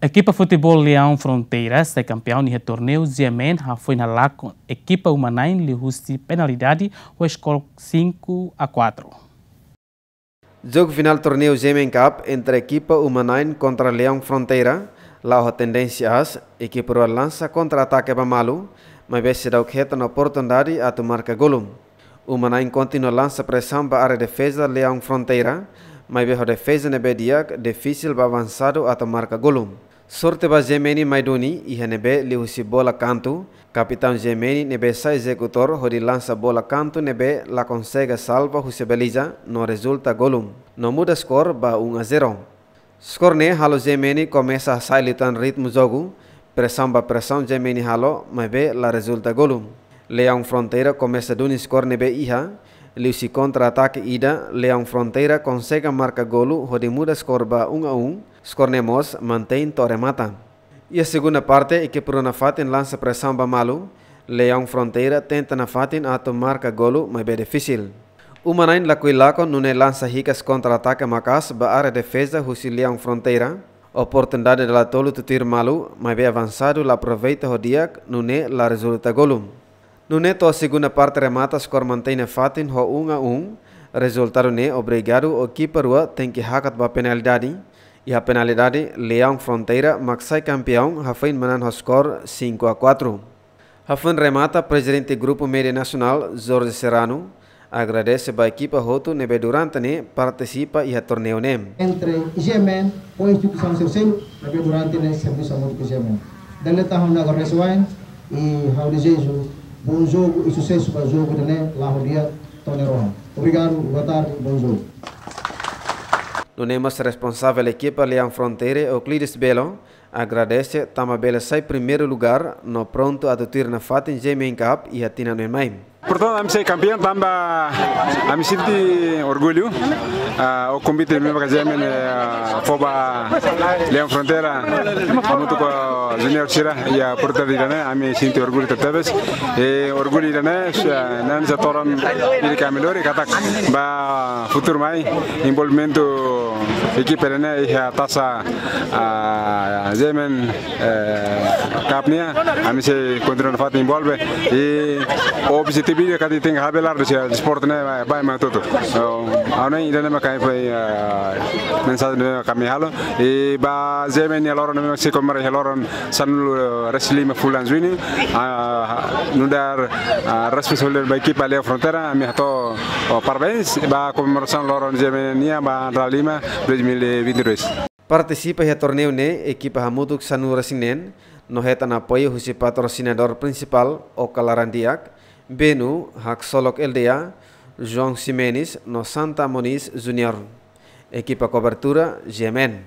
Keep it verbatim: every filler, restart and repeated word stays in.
Ekipa futeból Leão Fronteira sai kampeão iha torneiu G M N hafoin halakon ekipa Uma Nine liuhusi penalidade ho skor cinco a quatro. Jogu finál torneiu G M N Cup entre ekipa Uma Nine kontra Leão Fronteira la'o ho tendénsia aas, ekipa rua lansa kontra-atake ba malu, maibé seidauk hetan oportunidade atu marka golu. Uma Nine kontinua lansa presaun ba área defeza Leão Fronteira, maibé ho defeza ne'ebé di'ak, difisil ba avansadu atu marka golu. Sorte ba G M N mai duni, iha ne'ebé liuhusi bola kantu, kapitaun G M N ne'ebé sai ezekutór hodi lansa bola kantu ne'ebé la konsege salva husi baliza, no rezulta golu, no muda skor ba um a zero. Skor ne'e halo G M N komesa hasa'e liután ritmu jogu, presaun ba presaun G M N halo, maibé la rezulta golu. Leão Fronteira komesa duni skor ne'ebé iha, liuhusi kontra-atake ida, Leão Fronteira konsege marka golu hodi muda skor ba um a um, skor ne'e mós mantein to'o remata. Iha segunda parte, ekipa rua nafatin lansa presaun ba malu, Leão Fronteira tenta nafatin atu marka golu, maibé difisil. Uma Nine lakohi lakon, nune'e lansa hikas kontra-atake maka'as ba área defeza husi Leão Fronteira. Oportunidade dala tolu tutuir malu, maibé avansadu la aproveita ho di'ak, nune'e la rezulta golu. Nune'e to'o segunda parte remata skor mantein nafatin ho um a um, rezultadu ne'e obrigadu ekipa rua tenke hakat ba penalidade, iha penalidade Leão Fronteira mak sai kampeaun hafoin manán ho skor cinco a quatro. Hafoin remata, Prezidente Grupu Média Nasionál, Jorge Serrano, agradese ba ekipa hotu ne'ebé durante ne'e partisipa iha torneiu ne'e. Entre G M N ho instituisaun sira seluk ne'ebé durante ne'e servisu hamutuk ho G M N. Dala ida tan ha'u agradese wa'in, i ha'u dezeja bom jogu i susesu ba jogu ida-ne'e, la'o ho di'ak to'o nia rohan. Obrigadu, boa tarde, bom jogo. Nune'e mós responsavel ekipa Leão Fronteira, Euclides Belo, agradese tanba bele sai primeiru lugar no prontu atu tuir nafatin G M N Cup iha tinan oin mai. Portantu, ami sai kampeaun tanba ami sente orgullu. Ah, o konvite ne'ebé maka G M N, eh, fó ba Leão Fronteira, hamutuk ho junior sira iha oportunidade ida-ne'e, ami sente orgullu tebetebes. I orgullu ida-ne'e, eh, ne'e sai todan ida ke ami lori katak ba futuru mai, envolvimentu ekipa ida-ne'e iha Taça, ah, G M N, eh, Cup nian, ami sei kontinua nafatin envolve. I objetivu ida katak tenke habelar husi desportu ne'e ba, ba mai hotu-hotu. So, ha'u hanoin ida-ne'e maka, eh, mensajen ne'ebé ami halo. I ba G M N nia loron ne'ebé sei komemora iha loron sanulu, eh, resin lima fulan Juñu. Ah, nu'udar, ah, responsabilidade ba ekipa Leão Fronteira, ami hato'o, oh, parabéns ba komemorasaun loron G M N nian ba dala lima dois mil e vinte e dois. Partisipa iha torneiu ne'e ekipa hamutuk sanulu resin neen, no hetan apoiu husi patrosinadór prinsipál, Oka Laran Di'ak, Benu, Haksolok L D A, João Ximenes, no Santa Moniz Junior. Ekipa kobertura, G M N.